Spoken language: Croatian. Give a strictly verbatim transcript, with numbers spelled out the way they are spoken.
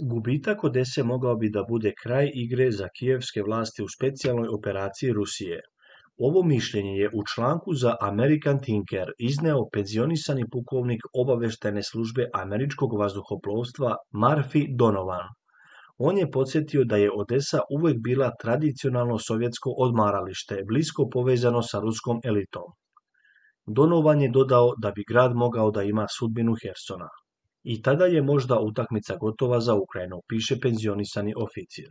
Gubitak Odese mogao bi da bude kraj igre za kijevske vlasti u specijalnoj operaciji Rusije. Ovo mišljenje je u članku za American Thinker izneo penzionisani pukovnik obaveštajne službe američkog vazduhoplovstva Murphy Donovan. On je podsjetio da je Odesa uvek bila tradicionalno sovjetsko odmaralište, blisko povezano sa ruskom elitom. Donovan je dodao da bi grad mogao da ima sudbinu Hersona. I tada je možda utakmica gotova za Ukrajinu, piše penzionisani oficir.